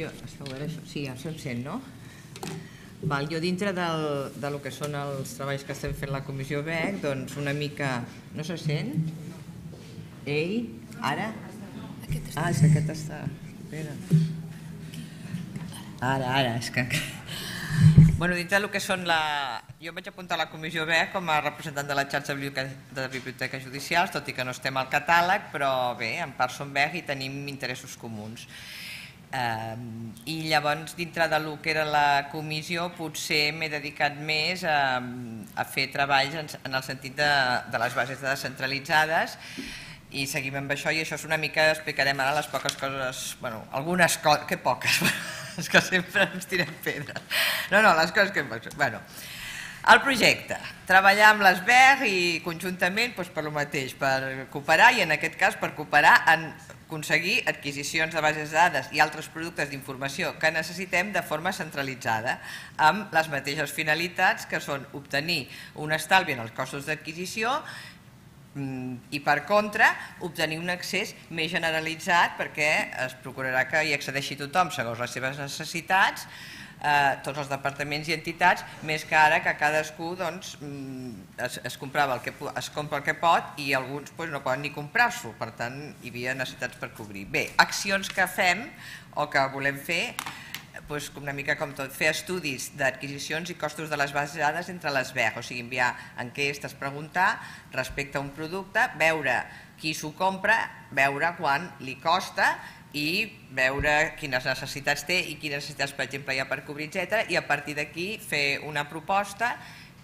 Esteu a veure això? Sí, ja se'm sent, no? Jo dintre del que són els treballs que estem fent la Comissió BEC, doncs una mica... No se sent? Ei, ara? Ah, és que aquest està... Espera. Ara, és que... Bueno, dintre del que són la... Jo vaig apuntar a la Comissió BEC com a representant de la xarxa de biblioteques judicials, tot i que no estem al catàleg, però bé, en part som BEC i tenim interessos comuns. I llavors, dintre del que era la comissió, potser m'he dedicat més a fer treballs en el sentit de les bases de descentralitzades, i seguim amb això, i això és una mica, explicarem ara les poques coses, bueno, algunes coses, que poques, és que sempre ens tirem pedres. No, les coses que... Bueno, el projecte, treballar amb les BEC i conjuntament per el mateix, per cooperar, i en aquest cas per cooperar en aconseguir adquisicions de bases de dades i altres productes d'informació que necessitem de forma centralitzada, amb les mateixes finalitats, que són obtenir un estalvi en els costos d'adquisició i, per contra, obtenir un accés més generalitzat, perquè es procurarà que hi accedeixi tothom segons les seves necessitats, tots els departaments i entitats, més que ara que cadascú es compra el que pot i alguns no poden ni comprar-s'ho, per tant hi havia necessitats per cobrir. Bé, accions que fem o que volem fer, una mica com tot, fer estudis d'adquisicions i costos de les bases de dades entre les BEC, o sigui, enviar enquestes, preguntar respecte a un producte, veure qui s'ho compra, veure quan li costa i veure quines necessitats té i quines necessitats, per exemple, hi ha per cobrir, etc. I a partir d'aquí fer una proposta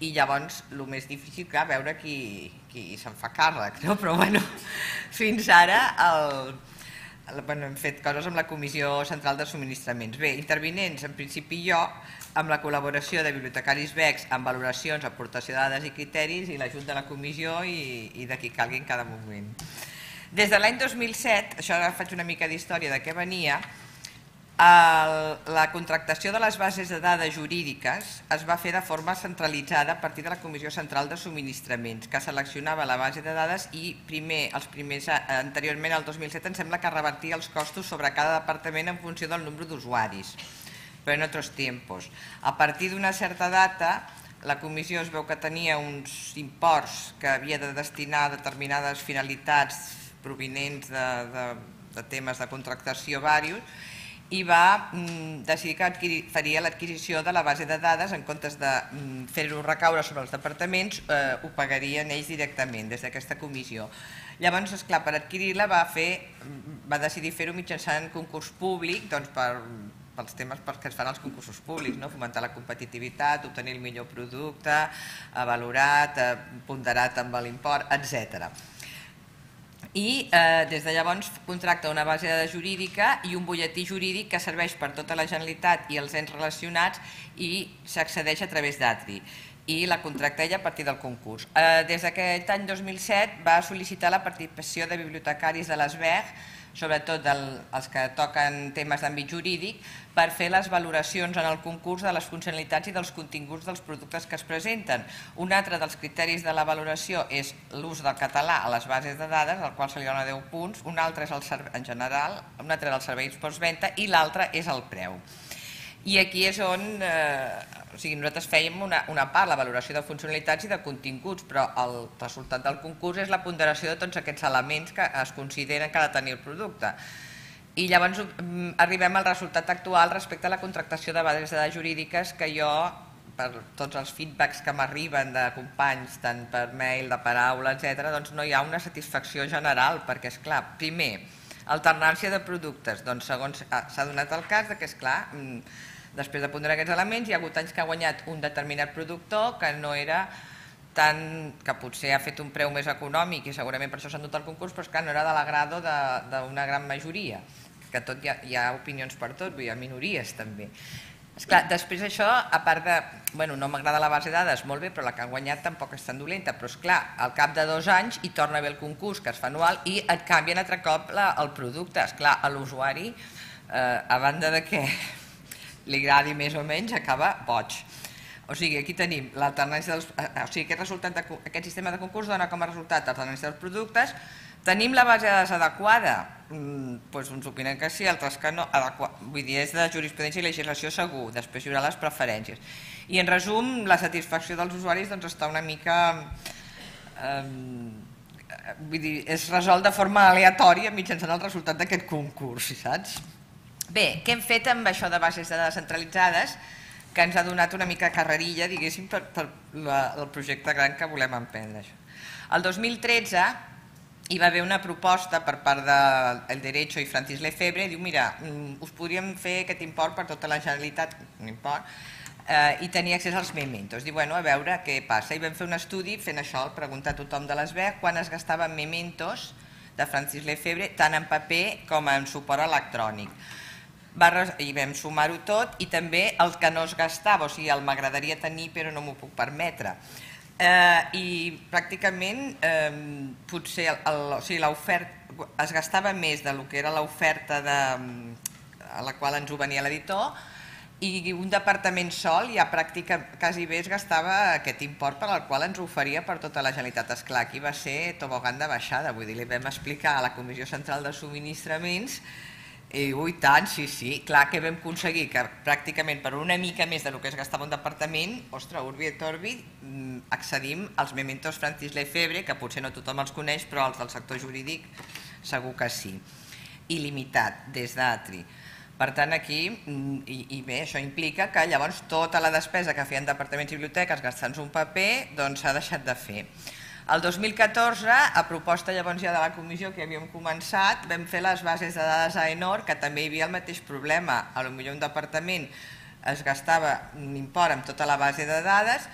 i llavors el més difícil, clar, veure qui se'n fa càrrec, no? Però bueno, fins ara hem fet coses amb la Comissió Central de Subministraments. Bé, intervinents, en principi jo, amb la col·laboració de bibliotecaris BEC amb valoracions, aportació de dades i criteris, i l'ajut de la comissió i de qui calgui en cada moment. Des de l'any 2007, això ara faig una mica d'història de què venia, la contractació de les bases de dades jurídiques es va fer de forma centralitzada a partir de la Comissió Central de Subministraments, que seleccionava la base de dades i anteriorment, al 2007, em sembla que revertia els costos sobre cada departament en funció del nombre d'usuaris, però en altres temps. A partir d'una certa data, la comissió es veu que tenia uns imports que havia de destinar a determinades finalitats provinents de temes de contractació diversos, i va decidir que faria l'adquisició de la base de dades, en comptes de fer-ho recaure sobre els departaments, ho pagarien ells directament des d'aquesta comissió. Llavors, esclar, per adquirir-la va decidir fer-ho mitjançant concurs públic, pels temes que es fan als concursos públics, fomentar la competitivitat, obtenir el millor producte, valorat, ponderat amb l'import, etc. I des de llavors contracta una base de dades jurídica i un butlletí jurídic que serveix per tota la Generalitat i els ens relacionats, i s'accedeix a través d'Atri, i la contracta ella a partir del concurs. Des d'aquest any 2007 va sol·licitar la participació de bibliotecaris de les BEC, sobretot els que toquen temes d'àmbit jurídic, per fer les valoracions en el concurs de les funcionalitats i dels continguts dels productes que es presenten. Un altre dels criteris de la valoració és l'ús del català a les bases de dades, al qual se li dona 10 punts, un altre és en general, un altre és el servei postventa i l'altre és el preu. I aquí és on nosaltres fèiem una part, la valoració de funcionalitats i de continguts, però el resultat del concurs és la ponderació de tots aquests elements que es consideren que ha de tenir el producte. I llavors arribem al resultat actual respecte a la contractació de bases de dades jurídiques, que jo, per tots els feedbacks que m'arriben de companys, tant per mail, de paraula, etc., doncs no hi ha una satisfacció general, perquè, esclar, primer, alternància de productes, doncs segons s'ha donat el cas que, esclar, després de ponderar aquests elements, hi ha hagut anys que ha guanyat un determinat productor que no era tant, que potser ha fet un preu més econòmic i segurament per això s'ha endut el concurs, però esclar, no era de l'agrado d'una gran majoria, que tot hi ha opinions per tot, hi ha minories també. Esclar, després això, a part de, no m'agrada la base de dades, molt bé, però la que han guanyat tampoc és tan dolenta, però esclar, al cap de 2 anys hi torna a haver el concurs, que es fa anual, i et canvien altre cop el producte. Esclar, a l'usuari, a banda de que li agradi més o menys, acaba boig. O sigui, aquí tenim l'alternància dels... O sigui, aquest sistema de concurs dona com a resultat l'alternància dels productes, Tenim la base de dades adequada? Doncs uns opinen que sí, altres que no. Vull dir, és de jurisprudència i legislació segur, després hi haurà les preferències. I en resum, la satisfacció dels usuaris està una mica... Vull dir, es resol de forma aleatòria mitjançant el resultat d'aquest concurs, saps? Bé, què hem fet amb això de bases de dades centralitzades que ens ha donat una mica carrerilla, diguéssim, per el projecte gran que volem emprendre. El 2013 hi va haver una proposta per part del Derecho i Francis Lefebvre, diu, mira, us podríem fer aquest import per tota la Generalitat, un import, i tenir accés als mementos. Diu, bueno, a veure què passa. I vam fer un estudi fent això, preguntar a tothom de l'ESBEC quan es gastaven mementos de Francis Lefebvre, tant en paper com en suport electrònic. I vam sumar-ho tot i també el que no es gastava, o sigui, el m'agradaria tenir però no m'ho puc permetre. I pràcticament potser l'oferta es gastava més del que era l'oferta a la qual ens ho venia l'editor i un departament sol ja pràcticament quasi bé es gastava aquest import per al qual ens oferia per tota la Generalitat. Esclar, aquí va ser tobogan de baixada, vull dir, li vam explicar a la Comissió Central de Subministraments i ui tant, sí, clar que vam aconseguir que pràcticament per una mica més del que es gastava un departament, ostres, Urbi et Orbi, accedim als mementos Francis Lefebvre, que potser no tothom els coneix, però els del sector jurídic segur que sí. Il·limitat, des d'Atri. Per tant, aquí, i bé, això implica que llavors tota la despesa que feien departaments i biblioteques gastant-se un paper, doncs s'ha deixat de fer. El 2014, a proposta llavors ja de la comissió que havíem començat, vam fer les bases de dades a Enor, que també hi havia el mateix problema. Potser un departament es gastava un import amb tota la base de dades,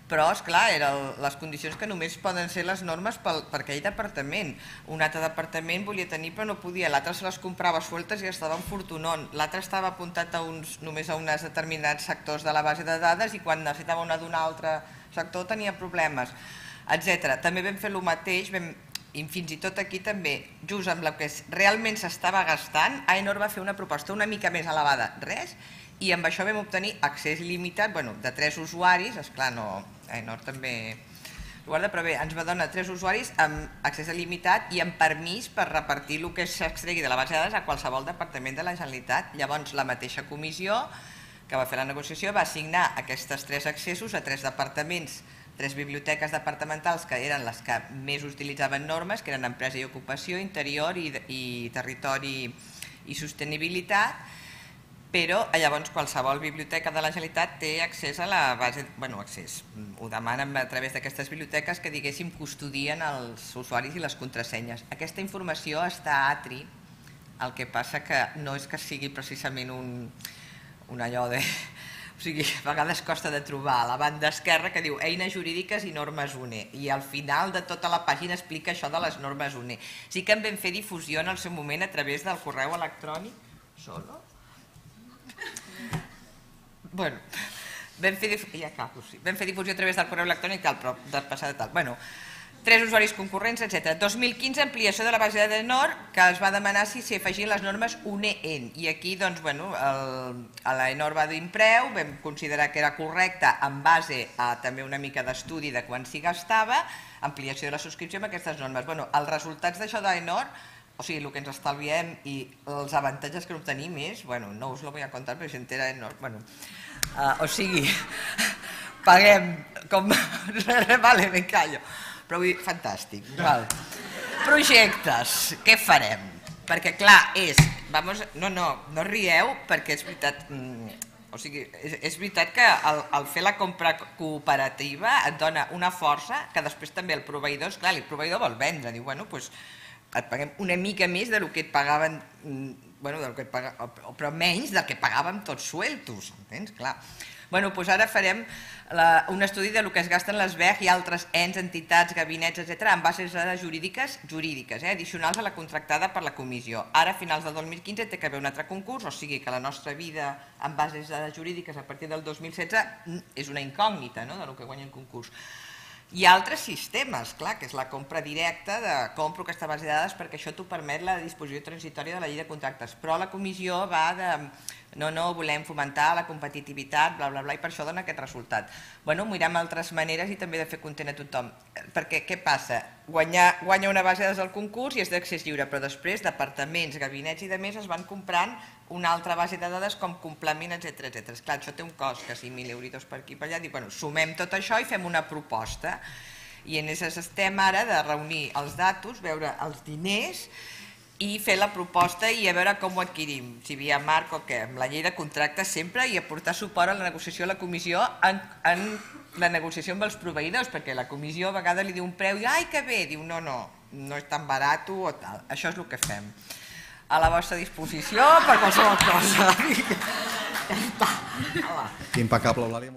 però, esclar, eren les condicions que només poden ser les normes per aquell departament. Un altre departament volia tenir però no podia, l'altre se les comprava sueltes i estava en fortunón, l'altre estava apuntat només a uns determinats sectors de la base de dades i quan necessitava una d'un altre sector tenia problemes, etc. També vam fer el mateix, i fins i tot aquí també, just amb el que realment s'estava gastant, Aenor va fer una proposta una mica més elevada, res, i amb això vam obtenir accés il·limitat, de 3 usuaris, esclar, Aenor també ho guarda, però bé, ens va donar 3 usuaris amb accés il·limitat i amb permís per repartir el que s'extregui de la base de dades a qualsevol departament de la Generalitat. Llavors, la mateixa comissió que va fer la negociació va assignar aquests 3 accessos a 3 departaments, 3 biblioteques departamentals que eren les que més utilitzaven normes, que eren Empresa i Ocupació, Interior i Territori i Sostenibilitat, però llavors qualsevol biblioteca de la Generalitat té accés a la base, accés, ho demanen a través d'aquestes biblioteques que diguéssim custodien els usuaris i les contrasenyes. Aquesta informació està a Atri, el que passa que no és que sigui precisament un allò de... O sigui, a vegades costa de trobar a la banda esquerra que diu eines jurídiques i normes UNE i al final de tota la pàgina explica això de les normes UNE. Sí que en vam fer difusió en el seu moment a través del correu electrònic. Solo? Bueno, vam fer difusió a través del correu electrònic però de passada tal. 3 usuaris concurrents, etc. 2015, ampliació de la base de Enor, que es va demanar si s'hi afegien les normes UNE-EN. I aquí, doncs, l'Enor va dir un preu, vam considerar que era correcte en base a també una mica d'estudi de quan s'hi gastava, ampliació de la subscripció amb aquestes normes. Els resultats d'això d'Enor, o sigui, el que ens estalviem i els avantatges que obtenim és, no us lo voy a contar, però si entera Enor, o sigui, paguem com... Vale, me callo. Però vull dir, fantàstic. Projectes, què farem? Perquè clar, no rieu perquè és veritat, o sigui, és veritat que al fer la compra cooperativa et dona una força que després també el proveïdor, esclar, el proveïdor vol vendre, diu, doncs et paguem una mica més del que et pagaven, però menys del que pagàvem tots sueltos, entens? Clar. Doncs ara farem un estudi del que es gasten les BEG i altres ens, entitats, gabinets, etc. en bases de dades jurídiques, addicionals a la contractada per la comissió. Ara, a finals del 2015, té que haver un altre concurs, o sigui que la nostra vida en bases de dades jurídiques a partir del 2016 és una incògnita del que guanya el concurs. Hi ha altres sistemes, clar, que és la compra directa de compro aquesta base de dades perquè això t'ho permet la disposició transitòria de la llei de contractes, però la comissió va no, volem fomentar la competitivitat, bla, bla, bla, i per això dona aquest resultat. Bueno, mirem altres maneres i també de fer content a tothom. Perquè què passa? Guanya una base de dades del concurs i és d'accés lliure, però després departaments, gabinets i demés es van comprant una altra base de dades com complement, etc. Esclar, això té un cost, que 5.000 euros per aquí per allà, dic, bueno, sumem tot això i fem una proposta. I en això estem ara de reunir els datos, veure els diners i fer la proposta i a veure com ho adquirim, si via marc o què, amb la llei de contractes sempre, i aportar suport a la negociació a la comissió en la negociació amb els proveïdors, perquè la comissió a vegades li diu un preu i ai que bé, diu no és tan barat o tal. Això és el que fem. A la vostra disposició per qualsevol cosa. Impecable, Eulàlia.